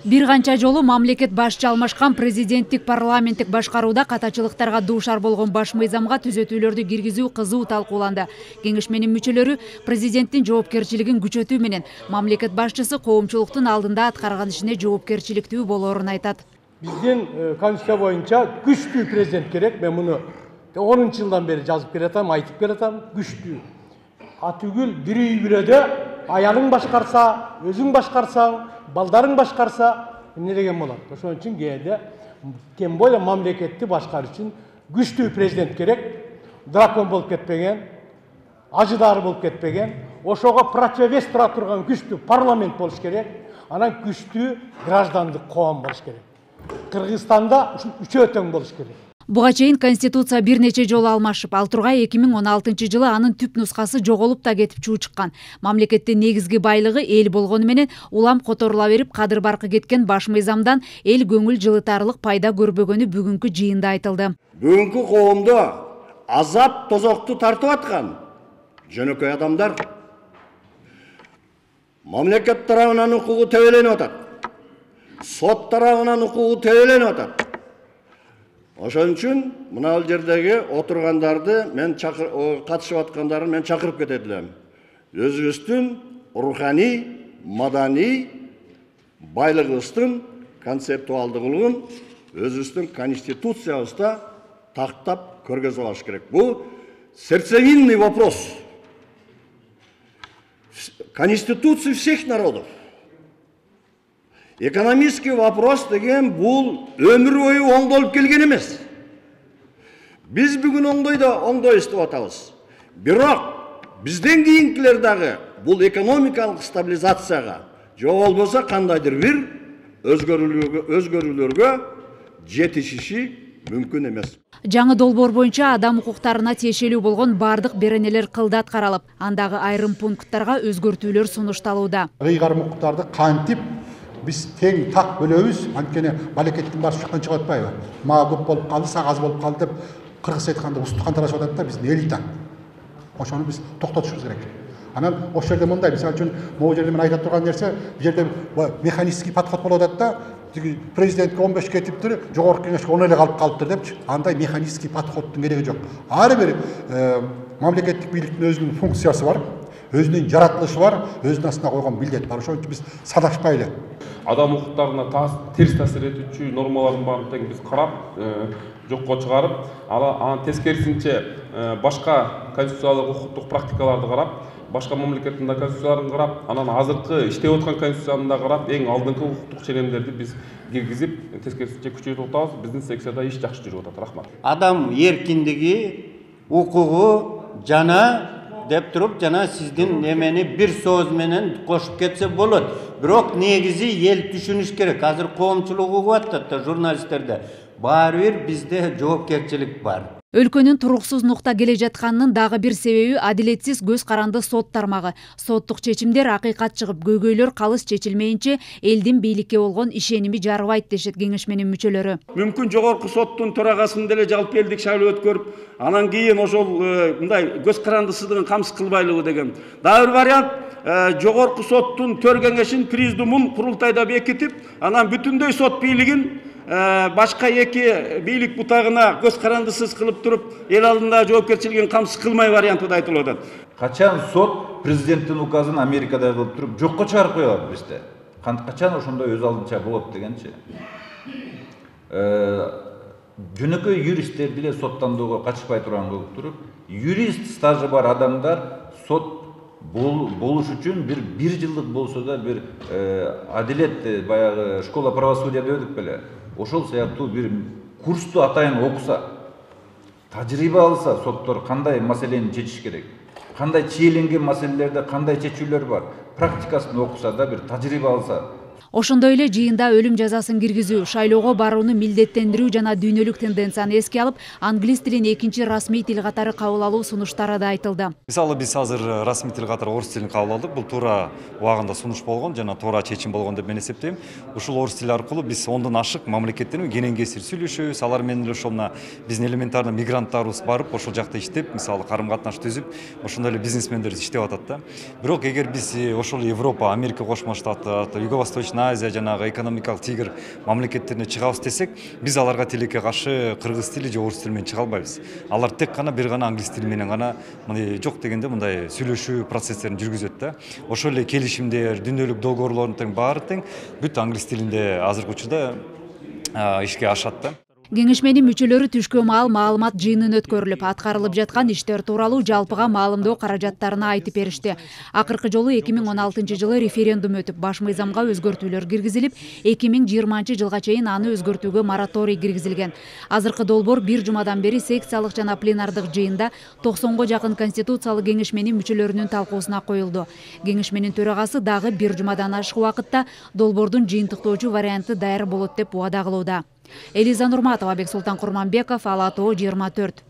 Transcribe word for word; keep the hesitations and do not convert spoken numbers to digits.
Бир канча жолу мамлекет башчы алмашкан президенттик парламенттик башкарууда катачылыктарга дуушар болгон баш мыйзамга түзөтүүлөрдү киргизүү кызуу талкууланды. Кеңешменин мүчөлөрү президенттин жоопкерчилигин күчөтүү менен мамлекет башчысы коомчулуктун алдында аткарган ишине жоопкерчиликтүү болоорун айтат. Биздин конституция боюнча күчтүү президент керек. Мен муну онунчу жылдан бери жазып келатам, айтып келатам. Күчтүү. Атүгүл бир үй бирөдө аялың башкарса, өзүң башкарсаң, балдарың башкарса, эмне деген болот? Ошон үчүн кээде тем более мамлекетти башкаруу үчүн күчтүү президент керек. Дракон болуп кетпеген, ажыдары болуп кетпеген, ошого противовес тура турган күчтүү парламент болуш керек. Анан күчтүү граждандык коом болуш керек. Кыргызстанда ушул үчөө тең болуш керек. Буга чейин Конституция бир нече жолу алмашып, ал тургай эки миң он алтынчы жылы анын түп нускасы жоголуп да кетип чуу чыккан. Мамлекеттин негизги байлыгы эл болгону менен улам которула берип, кадыр баркы кеткен баш мыйзамдан эл көңүл жылытарлык пайда көрбөгөнү бүгүнкү жыйында айтылды. Бүгүнкү коомдо азап тозокту тартып аткан жөнөкөй адамдар мамлекет тарабынан укугу тебеленип атат. Сот тарабынан укугу тебеленип атат. Ошон үчүн мына бул жердеги отургандарды мен катышып аткандарын мен чакырып кетет элем. Өзүбүздүн руханий, маданий байлыгыбыздын концептуалдуулугун өзүбүздүн конституциябызда тактап көргөзүп алыш керек. Бул сердцевинный вопрос. Конституция всех народов. Экономический вопрос деген бул өмүр бою оңдолуп келген эмес. Биз бүгүн оңдойдо оңдойбуз деп атабыз. Бирок бизден кийинкилер дагы бул экономикалык стабилизацияга же болбосо кандайдыр бир өзгөрүүлөргө өзгөрүүлөргө жетишиши мүмкүн эмес. Жаңы долбоор боюнча адам укуктарына тиешелүү болгон бардык беренелер кылдат каралып, андагы айрым пункттарга өзгөртүүлөр сунушталууда. Ыйгарым укуктарды кантип биз тең так бөлөбүз, анткени мамлекеттин башы жактан чыгып атпайбы? Мага көп болуп калды, сага аз болуп калды деп кыргызча айтканда устукан тарашып атат да биздин элита. Ошону биз токтотушубуз керек. Анан ошол жерде мындай, мисалы үчүн, могу жерде мен айта турган нерсе, бул жерде механический подход болуп атат да, президентке он беш кетиптир, жогорку кеңешке он эле калып калыптыр депчи. Андай механический подходдун кереги жок. Ар бир мамлекеттик бийликтин өзүнүн функциясы бар, өзүнүн жаратылышы бар, өзүнүн астына койгон милдет бар. Ошон үчүн биз садашпайлы. Адам укуктарына терс таасир этүүчү нормалардын баарын тең биз карап, жокко чыгарып, анан тескерисинче башка конституциялык укуктук практикаларды карап, башка мамлекеттин конституцияларын карап, анан азыркы иштеп аткан конституцияны да карап, эң алдыңкы укуктук ченемдерди биз киргизип, тескерисинче күчөтүп атабыз. Биздин секцияда иш жакшы жүрүп атат. Рахмат. Адам эркиндиги, укугу жана деп туруп, жана сиздин немени бир сөз менен кошуп кетсе болот. Бирок негизи эл түшүнүш керек. Азыр коомчулук угуп атат да, журналисттерде. Баары бир бизде жоопкерчилик бар. Өлкөнүн туруксуз нукта келе жатканынын дагы бир себеби адилетсиз көз каранды сот тармагы. Соттук чечимдер акыйкат чыгып, көйгөйлөр калыс чечилмейинче элдин бийликке болгон ишеними жарыбайт дешет кеңешменин мүчөлөрү. Мүмкүн жогорку соттун төрагасында деле жалпы элдик шайлоо өткөрүп, анан кийин ошол мындай көз карандысыздыгын камсыз кылбайлыгы деген. Дагы бир вариант жогорку соттун төр кеңешин, президиумун курултайда бекитип, анан бүтүндөй сот бийлигин башка эки бийлик бутагына көз карандысыз кылып туруп, эл алдында жоопкерчилигин камсыз кылмай варианты да айтылып атат. Качан сот президенттин указын Америкада кылып туруп жокко чыгарып коёт бизде? Качан ошондой өз алдынча болот дегенчи? Жөнөкөй юристтер деле соттандууга катышпай турган кылып туруп, юрист стажы бар адамдар сот болуш үчүн бир бир жылдык болсо да бир адилет баягы школа правосудия дедик беле. Ошол сыяктуу бир курсту атайын окуса, тажрыйба алса, соттор кандай маселени чечиш керек, кандай чийиленген маселелерде кандай чечүүлөр бар, практикасын окуса да бир тажрыйба алса. Ошондой эле жыйында өлүм жазасын киргизүү, шайлоого барууну милдеттендирүү жана дүйнөлүк тенденцияны эске алып, англис тилин экинчи расмий тил катары кабыл алуу сунуштары да айтылды. Мисалы биз азыр расмий тил катары орус тилин кабыл алдык. Бул туура убагында сунуш болгон жана туура чечим болгон деп мен эсептейм. Ушул орус тили аркылуу биз ондон ашык мамлекеттермен кенен кесир сүйлөшөбүз. Алар менен эле ошол мына биздин элементарный мигранттарыбыз барып, ошол жакта иштеп, мисалы карым катнаш түзүп, ошондой эле бизнесмендер иштеп атат да. Бирок эгер биз ошол Европа, Америка Кошмо Штаты, Юго-Восточный Восточная Азия жанагы экономикалык тигр мамлекеттерине чыгабыз десек, биз аларга тилекке каршы кыргыз тили же орус тили менен чыга албайбыз. Алар тек гана бир гана англис тили менен гана мындай жок дегенде мындай сүйлөшүү процесстерин жүргүзөт да. Ошол эле келишимдер, дүнөлүк долгоорлордун тең баары тең бүт англис тилинде азыркы учурда ишке ашат да. Кеңешменин мүчөлөрү түшкө маал маалымат жыйынын өткөрүлүп, аткарылып жаткан иштер тууралуу жалпыга маалымдоо каражаттарына айтып беришти. Акыркы жолу эки миң он алтынчы жылы референдум өтүп, баш мыйзамга өзгөртүүлөр киргизилип, эки миң жыйырманчы жылга чейин аны өзгөртүүгө мораторий киргизилген. Азыркы долбоор бир жумадан бери секциялык жана пленардык жыйында токсонго жакын конституциялык кеңешменин мүчөлөрүнүн талкуусуна коюлду. Кеңешменин төрагасы дагы бир жумадан ашык убакытта долбоордун жыйынтыктоочу варианты даяр болот деп убада кылууда. Элиза Нурматова, Бексултан Курманбеков, Ала Тоо жыйырма төрт.